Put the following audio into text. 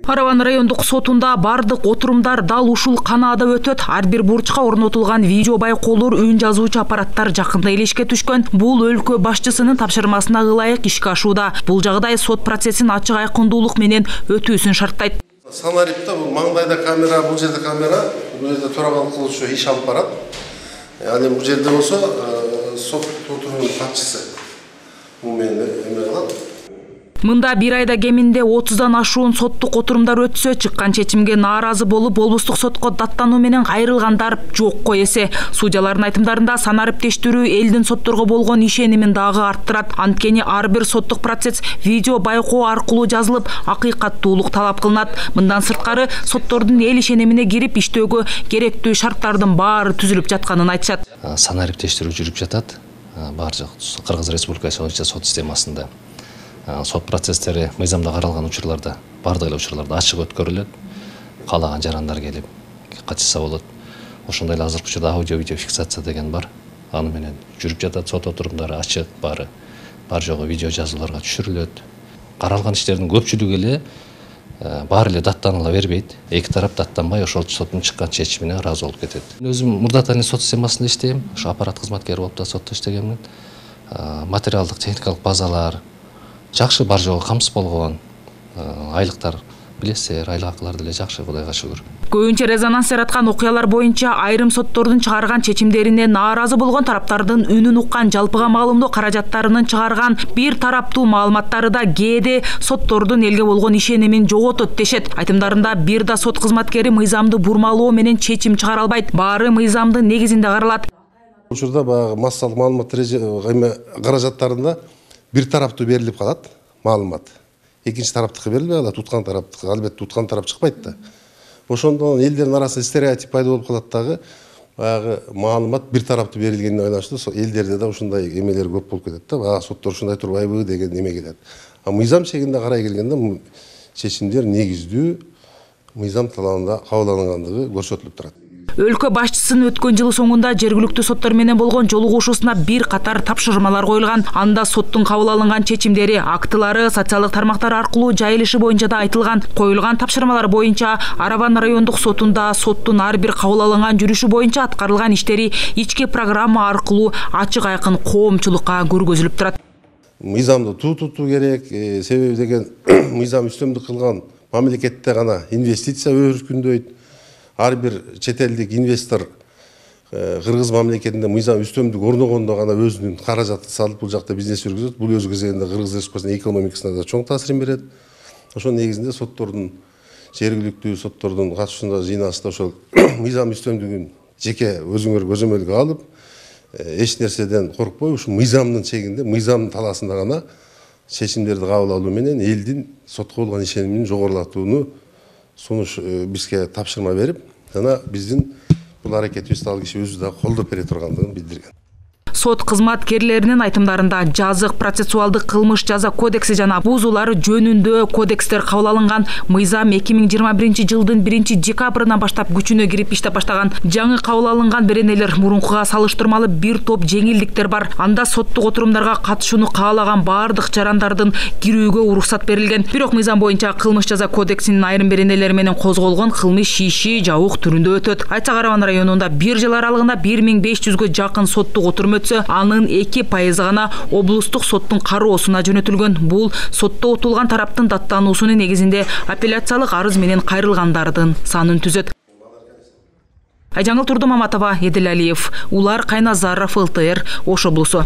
Араван райондук сотунда бардык отурумдар дал ушул канаада өтөт. Ар бир бурчка орнотулган видео байкоолор, үн жазуучу аппараттар жакында элешке түшкөн. Бул өлкө башчысынын тапшырмасына ылайык ишке ашууда. Бул жагдай сот процессин ачык айкындуулук менен өтүүсүн шарттайт. Санарипте бул маңдайда камера, бул жерде камера, бул жерде төрагал кылуучу иш алып барат. Ал эми бул жерде болсо сот отурумунун катчысы бул менен эме кылат. Мында бир айда кеминде 30дан ашуун соттук отурумдар өтсө, чыккан чечимге нааразы болуп, облустук сотко даттануу менен кайрылгандар жокко эсе. Судьялардын айтымдарында санариптештирүү элдин сотторго болгон ишенимин дагы арттырат. Анткени ар бир соттук процесс видео байкоо аркылуу жазылып, акыйкаттуулук талап кылынат. Мындан сырткары соттордун эл ишенимине кирип иштөөгө керектүү шарттардын баары түзүлүп жатканын айтышат. Санариптештирүү жүрүп жатат. Баардык Кыргыз Республикасы сот системасында. Сот процесстери мыйзамда каралган учурларда, бардык эле учурларда ачык өткөрүлөт. Каалаган жарандар келип катышса болот. Ошондой эле азыркы учурда аудио видео фиксация деген бар. Аны менен жүрүп жатат, сот отурумдары ачык, баары бар жогу видео жазууларга түшүрүлөт. Каралган иштердин көпчүлүгү эле баары эле даттаныла бербейт. Эки тарап даттанбай ошол соттун чыккан чечимине ыраазы болуп кетет. Өзүм Мурдатанин сот системасында иштейм. Ошо аппарат кызматкери болуп да сотто иштегенмин. Материалдык, техникалык базалар жакшы бар жогу камсыз болгон. Айлыктар билесиздер, айлык акылар деле жакшы, Кудайга шүгүр. Көбүнчө резонанс жараткан окуялар боюнча айрым соттордун чыгарган чечимдерине нааразы болгон тараптардын үнүн уккан, жалпыга маалымдоо каражаттарынын чыгарган бир тараптуу маалыматтары да кээде соттордун элге болгон ишенимин жоготот дешет. Айтымдарында бир да сот кызматкери мыйзамды бурмалоо менен чечим чыгара албайт. Баары мыйзамдын негизинде каралат. Учурда баягы массалык маалымат каражаттарында бир тараптуу берилип калат маалымат. Экинчи тараптыкы берилбей калат, уткан тараптыкы. Албетте уткан тарап чыкпайт да. Ошондон элдердин арасында стереотип пайда болуп калат дагы. Баягы маалымат бир тараптуу берилгенине байланыштуу элдерде да ушундай эмелер көп болуп кетет да. Баягы соттор ушундай турбайбы деген эме келет. Мыйзам чегинде карай келгенде чечимдер негиздүү мыйзам талабында кабыл алынгандыгы көрсөтүлүп турат. Өлкө башчысынын өткөн жылы соңунда жергиликтүү соттор менен болгон жолугушуусуна бир катар тапшырмалар коюлган. Анда соттун кабыл алынган чечимдери, актылары социалдык тармактар аркылуу жайылышы боюнча да айтылган. Коюлган тапшырмалар боюнча Араван райондук сотунда соттун ар бир кабыл алынган жүрүшү боюнча аткарылган иштери ички программа аркылуу ачык айкын коомчулукка көргөзүлүп турат. Мыйзамды тутуу керек, себеби деген мыйзам үстөмдүк кылган мамлекетте гана инвестиция өркүндөйт. Ар бир чет элдик инвестор Кыргыз мамлекетинде мыйзам үстөмдүк орногондо гана өзүнүн каражатын салып бул жакта бизнес жүргүзөт. Бул өз кезегинде Кыргыз Республикасынын экономикасына да чоң таасирин берет. Ошонун негизинде соттордун жергиликтүү соттордун катышуусунда жыйналышта ошол мыйзам үстөмдүгүн жеке өзүңөр көзөмөлгө алып, эч нерседен коркпой ушу мыйзамдын чегинде, мыйзамдын талаасында гана чечимдерди кабыл алуу менен элдин сотко болгон ишенимин жогорулатууну сунуш бизге тапшырма берип, жана биздин бул аракетибизди ал киши өзү да колдоп бере тургандыгын билдирген. Сот кызматкерлеринин айтымдарында жазык процессуалдык кылмыш жаза кодекси жана бузуулар жөнүндө кодекстер кабыл алынган. Мыйзам 2021 жылдын 1-декабрынан баштап күчүнө кирип иштеп баштаган. Жаңы кабыл алынган беренелер мурункуга салыштырмалуу бир топ жеңилдиктер бар. Анда соттук отурумдарга катышууну каалаган бардык жарандардын кирүүгө уруксат берилген. Бирок мыйзам боюнча кылмыш жаза кодексинин айрым беренелери менен козголгон кылмыш иши жабык түрүндө өтөт. Айтсак Араван районунда бир жыл аралыгында 1500-гө жакын соттук отурум өтсө, анын 2% гана облустук соттун кароосуна жөнөтүлгөн. Бул сотто отулган тараптын даттануусунун негизинде апелляциялык арыз менен кайрылгандардын санын түзөт. Айжаңыл Турдумаматова, Едил Алиев, Улар Кайназаров, ЛТР, Ош облусу.